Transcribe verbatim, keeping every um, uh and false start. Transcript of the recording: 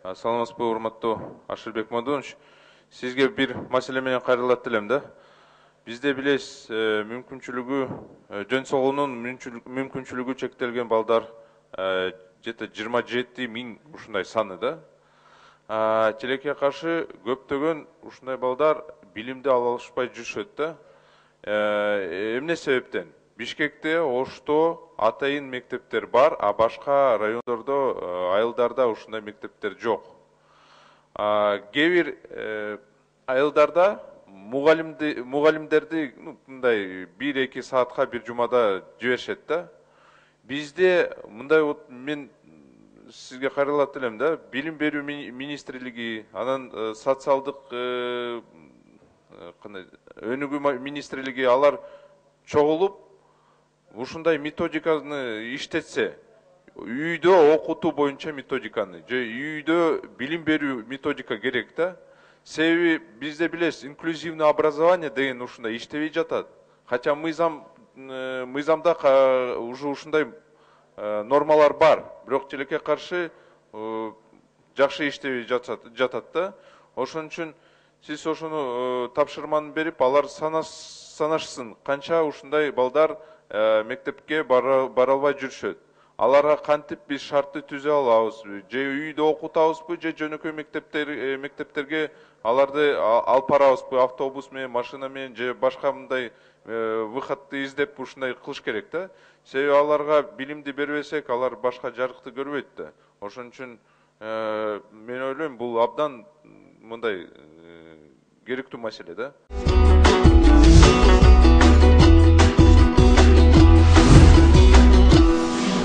Саламатсызбы, урматтуу Ашырбек Мадунович. Сизге бир маселе менен кайрылат элем да. Бизде билесиз, мүмкүнчүлүгү жөн согуунун мүмкүнчүлүгү чектелген балдар жете жыйырма жети миң ушундай саны да. Тилекке каршы көптөгөн ушундай балдар билимди ала алышпай жүрүшөт да. Эмне себептен? Бишкекте, Ошто атайын мектептер бар, а башка райондордо, айылдарда ушундай мектептер жок. Кээ бир айылдарда мугалимдерди мындай бир эки саатка бир жумада жиберишет да. Бизде мындай мен сизге кайрылат элем да. Билим берүү министрлиги, анан социалдык өнүгүү министрлиги алар чогулуп ушундай методиканы иштетсе, үйдө окутуу боюнча методиканы, же үйдө билим берүү методика керек да. Себеби бизде билесиз, инклюзивный образование деген ушундай иштебей жатат. Хотя мыйзам мыйзамда уже ушундай нормалар бар, бирок тилекке каршы жакшы иштебей жатат да. Ошон үчүн сиз ошону тапшырманы берип, алар санашсын, канча ушундай балдар мектепке бара албай жүрүшөт. Аларга кантип биз шартты түзө алабызбы, же үйдө окутабызбы, же жөнөкөй мектептерге аларды алып барабызбы, автобус менен, машина менен, же башка мындай выходты издеп ушундай кылыш керек да. Себеби аларга билимди бербесек, алар башка жарыкты көрбөйт да. Ошон үчүн мен ойлойм, бул абдан мындай керектүү маселе да.